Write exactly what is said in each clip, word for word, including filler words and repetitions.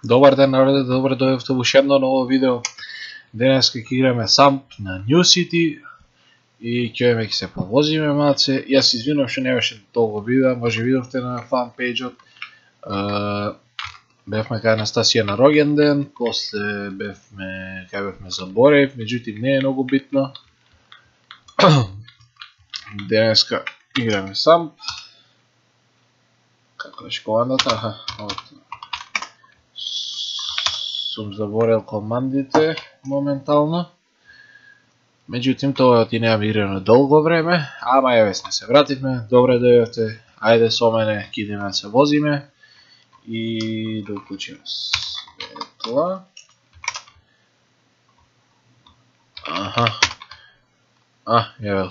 Добар ден, народе, добре дојдовте во уште едно ново видео. Денеска ќе играме Самп на New City и ќе ќе се повозиме малце. Јас извинувам што не беше толку видео, може видовте на фан пејџот. Бевме кај Анастасија на роѓен ден, после бевме кај бевме за Борев, меѓутоа не е многу битно. Денеска играме Самп. Како беше командата? Аха, сум заборел командите моментално. Меѓутоа тоа ти немам играно долго време, ама еве сме се вративме, добре дојдовте. Ајде со мене, ќе идеме да се возиме и да уклучиме светла. Аха. А, еве.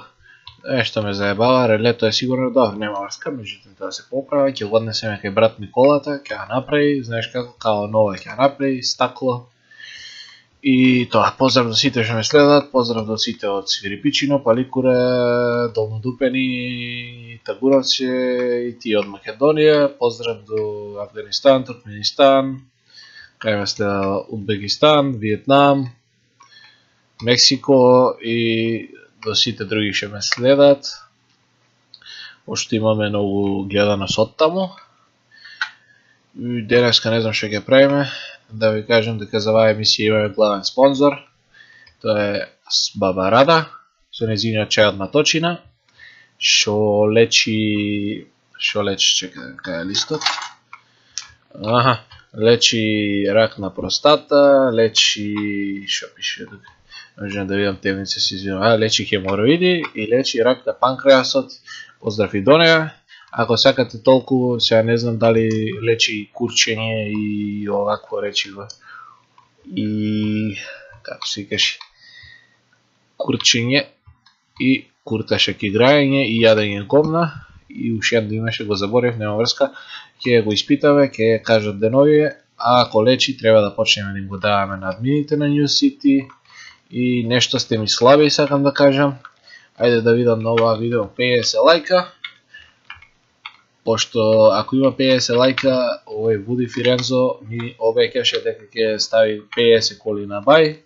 Нешто ме заебава, релето е сигурно добро, нема врска, меѓутоа тоа се поправа, ќе го однесеме кај брат Николата, ќе ја направи, знаеш како, као нова ќе ја направи, стакло. И тоа, поздрав до сите што ме следат, поздрав до сите од Свирипичино, Паликуре, Долнодупени, Тагуровче и тие од Македонија, поздрав до Афганистан, Туркменистан, кај ме следа Узбекистан, Виетнам, Мексико и до сите други што ме следат. Пошто имаме многу гледаност од таму. Денеска не знам што ќе правиме. Да ви кажам дека за оваа емисија имаме главен спонзор. Тоа е Баба Рада, со нејзиниот чај од маточина, што лечи... Што лечи, чекај, кај е листот? Аха, лечи рак на простата, лечи... Што пише тука? Можем да видам темница, се извинувам. А, лечи хемороиди и лечи рак на панкреасот. Поздрав и до неа. Ако сакате толку, сега не знам дали лечи курчење и овакво речиво. И... како се кажи? Курчење и курташак играење и јадење говна. И уште едно имаше, го заборев, нема врска. Ќе го испитаме, ќе кажат деновие. А ако лечи, треба да почнеме да им го даваме на админите на New City. И нешто сте ми слаби, сакам да кажам. Ајде да видам на ова видео петдесет лајка. Пошто ако има петдесет лајка, овој Вуди Фирензо ми обеќаше дека ќе стави петдесет коли на бај.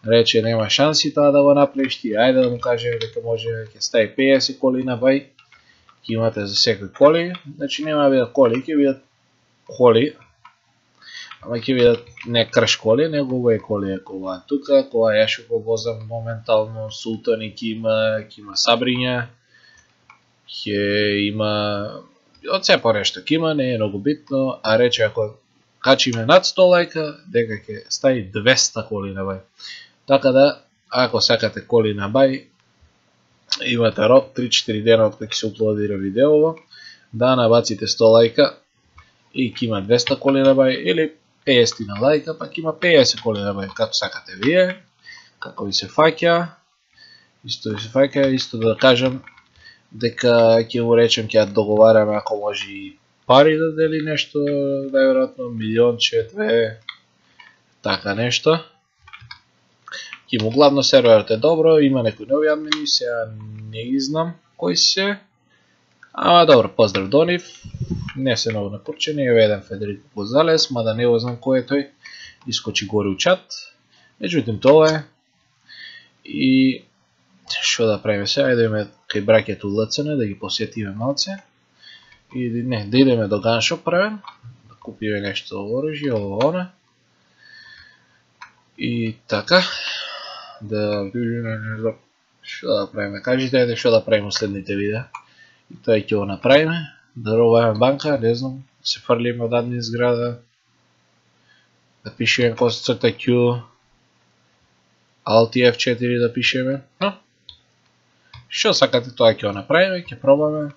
Рече нема шанси тоа да го направиш ти. Ајде да му кажеме дека може ќе стави петдесет коли на бај. Ќе имате за секој коли. Значи нема да бидат коли, ќе бидат коли. Ама ќе видат не крш коли, него овој коли е кова тука, кова ја што го возам моментално, Султани ќе има, ќе има Сабриња, ќе има, од се понешто ќе има, не е многу битно, а рече ако качиме над сто лајка, дека ќе стави двеста коли на бај. Така да, ако сакате коли на бај, имате рок три-четири дена од кога ќе се уплодира видеово, да набаците сто лајка и ќе има двеста коли на бај, или петдесет на лајка, пак има петдесет коли на бај, како сакате вие, како ви се фаќа, исто ви се фаќа, исто да кажам дека ќе му речем ќе ја договараме ако може и пари да дели нешто, најверојатно милионче, две, така нешто. Ќе му главно серверот е добро, има некои нови админи, сега не ги знам кои се, ама добро, поздрав до нив. Не се многу напурчени, еве еден Федерико Гозалес, мада не го знам кој е тој, искочи горе у чат. Меѓутоа тоа е. И што да правиме сега, ајде да идеме кај браќето ЛЦН, да ги посетиме малце. И не, да идеме до ганшоп правен, да купиме нешто оружје, ово она. И така, да видиме, не знам, што да правиме. Кажите ајде што да правиме следните видеа. И тоа ќе го направиме. Да робаме банка, не знам, се фрлиме од админ зграда, да пишеме косцрта Q, Alt F четири да пишеме, но, што сакате тоа ќе го направиме, ќе пробаме,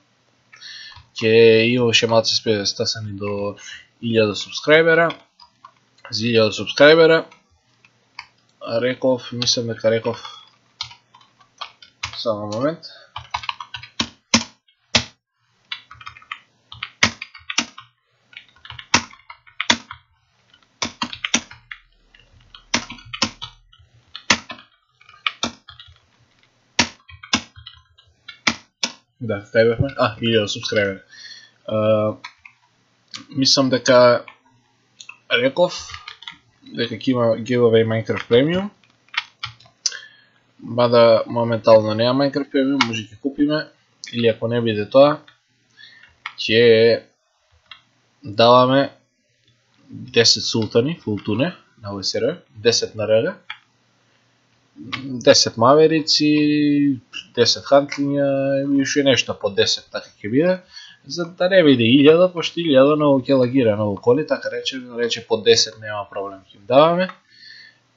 ќе има уште малце спе да стасани до илјада субскрајбера, за илјада субскрајбера, реков, мислам дека реков, само момент, да, кај бевме? А, илјада субскрајбери. Мислам дека реков дека ќе има giveaway Minecraft Premium. Мада моментално нема Minecraft Premium, може ќе купиме, или ако не биде тоа, ќе даваме десет султани, фултуне на о ес ар, десет на РГ, десет маверици, десет хантлиња и уште нешто по десет, така ќе биде, за да не биде илјада, пошто илјада многу ќе лагира многу коли, така рече, рече по десет нема проблем ќе им даваме.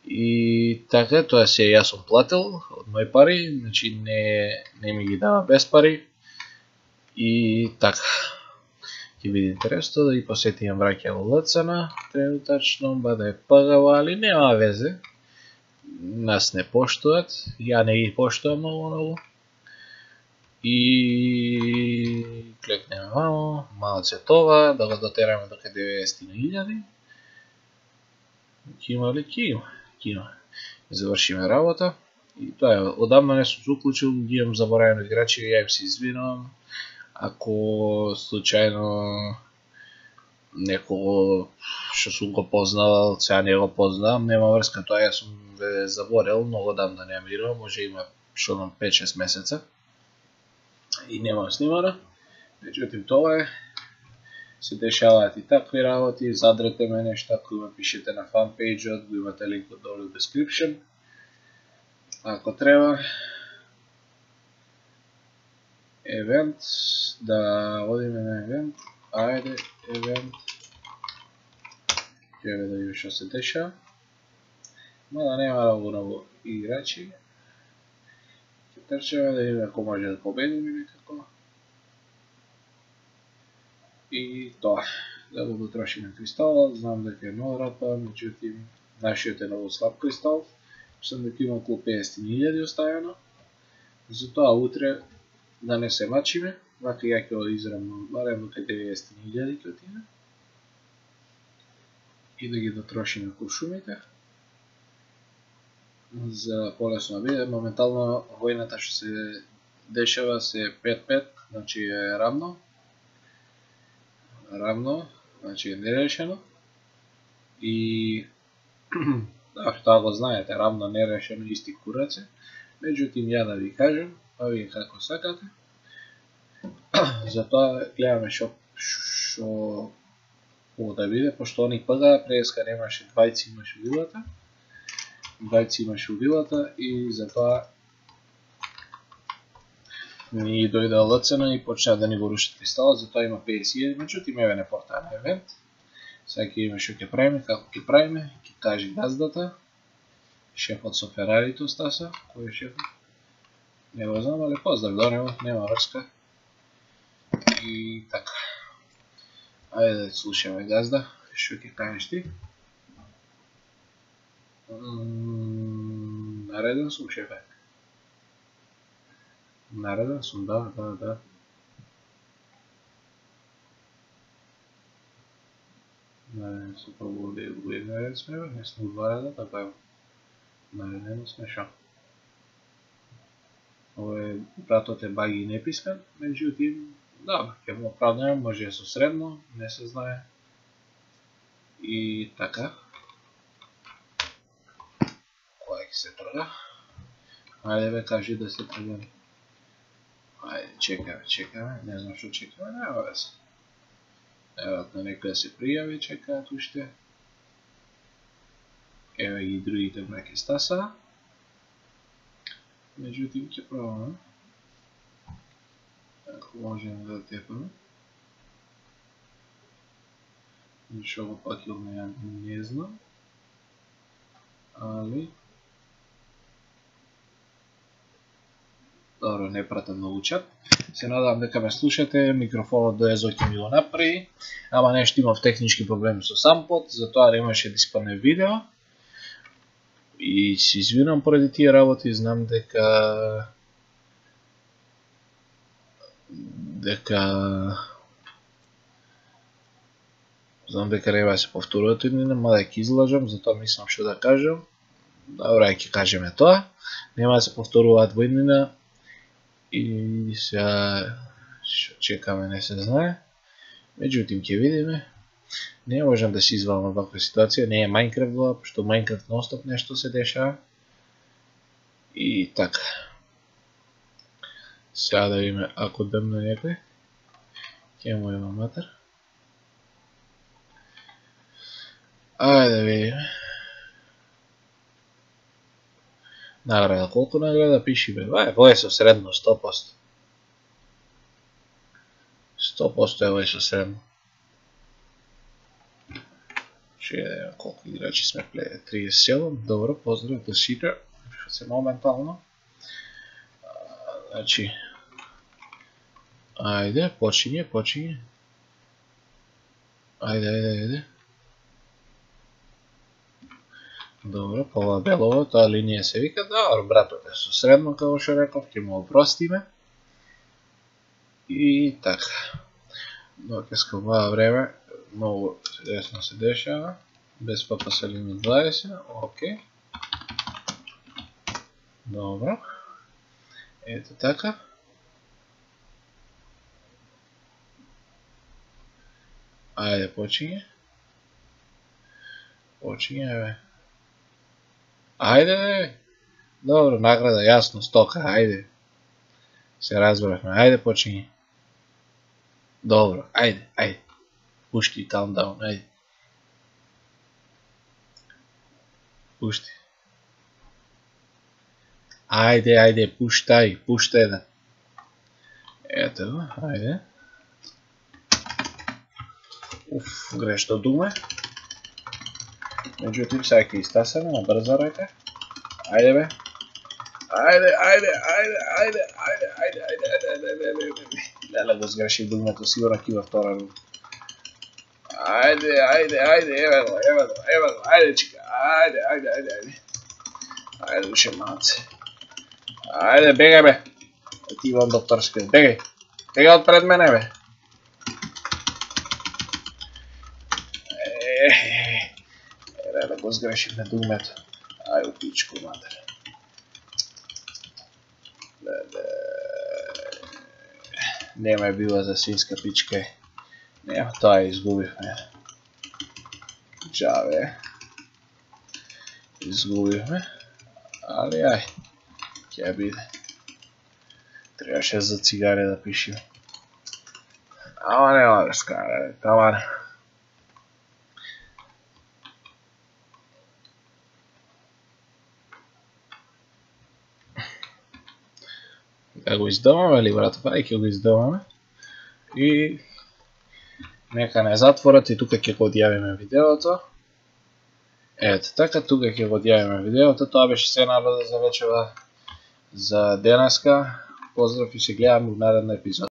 И така, тоа се јас сум платил од мои пари, значи не, не ми ги дава без пари. И така, ќе биде интересно да ги посетиме браќа во ЛЦН, тренутачно, баде пагава, али нема везе. Нас не поштуват, ја не ги поштувам многу многу. И клекнеме мамо, малце това, да го дотераме до деветдесет илјади. Ќе има ли? Ќе има. Ќе има. Завршиме работа. И тоа е, одамна не сум се уклучил, ги имам заборавени играчи, ја им се извинувам. Ако случајно некого што сум го познавал, сега не го познавам, нема врска, тоа јас сум ве заборел, многу одамна не играм, може има што на пет-шест месеца. И немам снимана. Меѓутоа тоа е, се дешаваат и такви работи, задрете ме нешто, ако ме пишете на фанпейджот, го имате линкот долу во description. Ако треба, евент, да одиме на евент, ајде, евент, ќе да видим што се дешава. Мада нема многу многу играчи. Ќе трчаме да видиме ако може да победиме некако. И тоа, да го дотрошиме кристалот, знам дека е многу рапа, меѓутоа нашиот е многу слаб кристал, сум дека има околу педесет илјади оставено. Затоа утре да не се мачиме, вака ја ќе израмам барем до деветдесет илјади ќе отиде. И да ги дотрошиме куршумите. За полесно биде, моментално војната што се дешава се пет-пет, значи е равно. Равно, значи е нерешено. И да, тоа го знаете, равно нерешено исти кураци. Меѓутоа ја да ви кажам, па вие како сакате. Затоа гледаме што што мога да биде, пошто они пага преска немаше двајци имаше вилата. двајци имаше вилата и затоа ни дојде ЛЦН и почна да ни го рушат кристалот, затоа има педесет илјади, меѓутоа еве не портаа на евент. Сега ќе видиме што ќе правиме, како ќе правиме, ќе каже газдата. Шефот со Ферарито стаса, кој е шефот? Не го знам, али поздрав до него, нема врска. И така. Ајде да слушаме газда, што ќе кажеш ти? Нареден сум, шефе. Нареден сум, да, да, да. Нареден сум, па го нареден сме, не сме два реда, така е. Нареден сме шо. Овој пратот е баги не пискан, меѓутоа, да, ќе му оправдаме, може е со средно, не се знае. И така. Која ќе се трга? Ајде бе, кажи да се тргаме. Ајде, чекаме, чекаме, не знам што чекаме, нема везе. Веројатно некој да се пријави, чекаат уште. Еве ги другите браќа стаса. Меѓутоа ќе пробаме. Ако можеме да тепаме. Ништо го пакилме, ја не знам. Али добро, не пратам многу чат. Се надам дека ме слушате, микрофонот до езо ќе ми го направи, ама нешто имав технички проблеми со сампот, затоа немаше да испадне видео. И се извинам поради тие работи, знам дека дека знам дека нема да се повторуваат иднина, мада ќе излажам, затоа мислам што да кажам. Добро, ќе кажеме тоа. Нема да се повторуваат во иднина. И сега што чекаме не се знае. Меѓутоа ќе видиме. Не можам да се извалам од ваква ситуација, не е Minecraft во, што Minecraft нонстоп нешто се дешава. И така. Сега да видиме ако дъмна некој. Ќе му има матер. Ајде да видиме. Награда, колку награда пиши бе? Ва е, во е со средно сто проценти. сто проценти е во е со средно. Ще видиме колку играчи сме плеја. триесет и седум, добро, поздрав до сите. Што се моментално. Значи, ајде, почиње, почиње. Ајде, ајде, ајде. Добро, пова белово, таа линија се вика, добро, братове, со средно, како што реков, ќе му опростиме. И така. Дока ова време, многу десно се дешава, без ППС лимит дваесет, окей. Добро. Ето така. Ајде, почиње. Почиње, бе. Ајде, бе. Добро, награда, јасно, стока, ајде. Се разбрахме, ајде, почиње. Добро, ајде, ајде. Пушти, countdown, ајде. Пушти. Ајде, ајде, пуштај, пуштај да. Ето го, ајде. Уф, грешно думе. Меđutim, сега ќе истасаме на брза рака. Ајде бе. Ајде, ајде, ајде, ајде, ајде, ајде, ајде, ајде, ајде, ајде, ајде. Леле го сгреши дугмето, сигурно ќе има втора рука. Ајде, ајде, ајде, еве го, еве го, еве го, ајде чика, ајде, ајде, ајде, ајде. Ајде, душе малце. Ајде, бегај бе. Ти имам докторски, бегај. Бегај од пред мене бе. Ере, да го сгрешим дугмето. Ај у пичку, матер. Нема е била за свинска пичка. Нема, тоа изгубивме. Джаве. Изгубивме. Али ај. Ќе биде. Требаше за цигаре да пишим. Ама нема да скара, таман. Да го издаваме ли, братов? Ај ќе го издаваме. И нека не затворат и тука ќе го одјавиме видеото. Ето така, тука ќе го одјавиме видеото. Тоа беше се народа за вечера за денеска. Поздрав и се гледаме во наредна епизода.